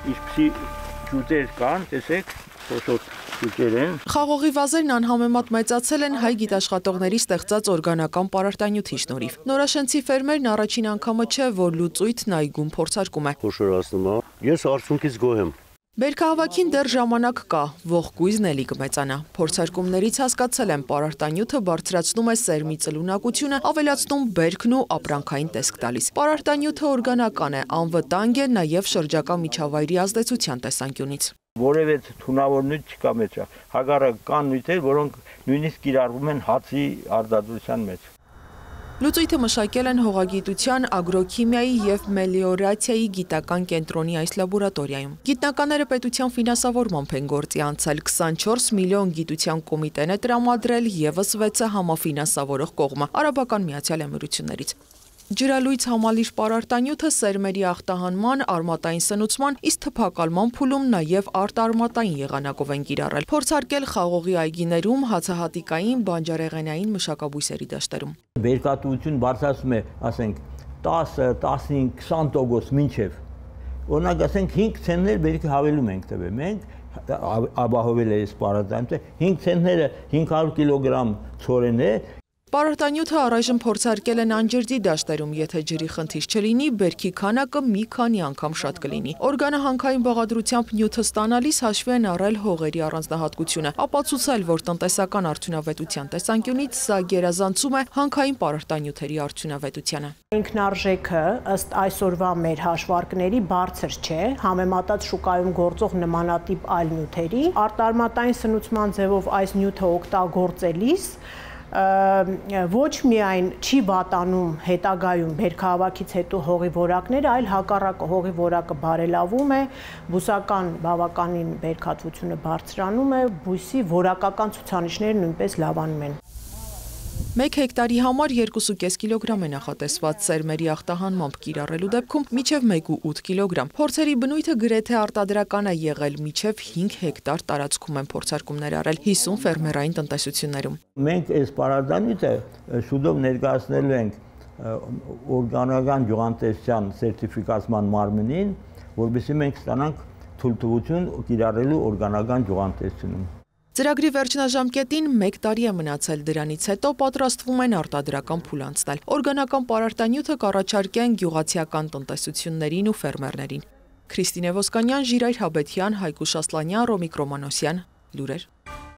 Ինչպիսի ջուտեր կան, տեսեք, խոշոր ջուտեր են։ Խաղողի վազերն անհամեմատ մեծացել են հայ գիտաշխատողների ստեղծած օրգանական պարարտանյութի շնորհիվ։ Նորաշենցի ֆերմերն առաջին անգամը չէ, որ լուծույթն այգում փորձարկում է։ Խոշորացնում է։ Ես արդյունքից գոհ եմ։ Բերքահավաքին դեռ ժամանակ կա, ողկույզն էլի կմեծանա։ Փորձարկումներից հասկացել եմ, պարարտանյութը բարձրացնում է սերմի ծլունակությունը, ավելացնում բերքն ու ապրանքային տեսք տալիս։ Պարարտանյութը օրգանական է, անվտանգ է նաև շրջակա միջավայրի ազդեցության տեսանկյունից։ Որևէ թունավոր նյութ չկա մեջը։ Հակառակ կան նյութեր, որոնք նույնիսկ կիրառվում են հացի արտադրության մեջ։ Լուծույթը մշակել են հողագիտության, ագրոքիմիայի և մելիորացիայի գիտական կենտրոնի այս լաբորատորիայում։ Գիտնականները պետության ֆինանսավորմամբ են գործի անցել, 24 միլիոն գիտության կոմիտեն է տրամադրել, ևս 6-ը համաֆինանսավորող կողմը, Արաբական Միացյալ Էմիրություններից։ Ջրալույց համալիր պարարտանյութը սերմերի ախտահանման, արմատային սնուցման, իսկ թփակալման փուլում նաև արտարմատային եղանակով են կիրառել։ Փորձարկել խաղողի այգիներում, հացահատիկային, բանջարեղենային մշակաբույսերի դաշտերում։ Բերքատվություն բարձրացում է, ասենք, 10, 15, 20% մինչև։ Օրինակ, ասենք 5 ցենտներ բերքի հավելում ենք տվել։ Մենք ապահովել է այս պարարտանյութը 5 ցենտները 500 կիլոգրամ ցորեն է։ Պարարտանյութը առայժմ փորձարկել են անջրդի դաշտերում, եթե ջրի խնդիր չլինի, բերքի քանակը մի քանի անգամ շատ կլինի։ Օրգանահանքային բաղադրությամբ նյութը ստանալիս հաշվի են առել հողերի առանձնահատկությունը, ապացուցել, որ տնտեսական արդյունավետության տեսանկյունից սա գերազանցում է հանքային պարարտանյութերի արդյունավետությանը։ Ինքնարժեքը ըստ այսօրվա մեր հաշվարկների բարձր չէ, համեմատած շուկայում գործող նմանատիպ այլ նյութերի, արտարմատային սնուցման ձևով այս նյութը օգտագործելիս ոչ միայն չի վատանում հետագայում բերքահավաքից հետո հողի որակները, այլ հակառակը հողի որակը բարելավում է, բուսական բավականին բերքատվությունը բարձրանում է, բույսի որակական ցուցանիշները նույնպես լավանում են։ 1 հեկտարի համար 2.5 կիլոգրամ է նախատեսված, սերմերի ախտահանմամբ կիրառելու դեպքում մինչև 1.8 կիլոգրամ։ Փորձերի բնույթը գրեթե արտադրական է եղել, մինչև 5 հեկտար տարածքում են փորձարկումներ արել 50 ֆերմերային տնտեսություններում։ Մենք այս պարարտանյութը շուտով ներկայացնելու ենք օրգանական գյուղատնտեսության սերտիֆիկացման մարմնին, որովհետեւ մենք ստանանք թույլտվություն կիրառելու օրգանական գյուղատնտեսությունում։ Ծրագրի վերջնաժամկետին 1 տարի է մնացել, դրանից հետո պատրաստվում են արտադրական փուլ անցնել։ Օրգանական պարարտանյութը կառաջարկեն գյուղացիական տնտեսություններին ու ֆերմերներին։ Քրիստինե Ոսկանյան, Ժիրայր Հաբետյան, Հայկուշ Ասլանյան, Ռոմիկ Ռոմանոսյան, լուրեր։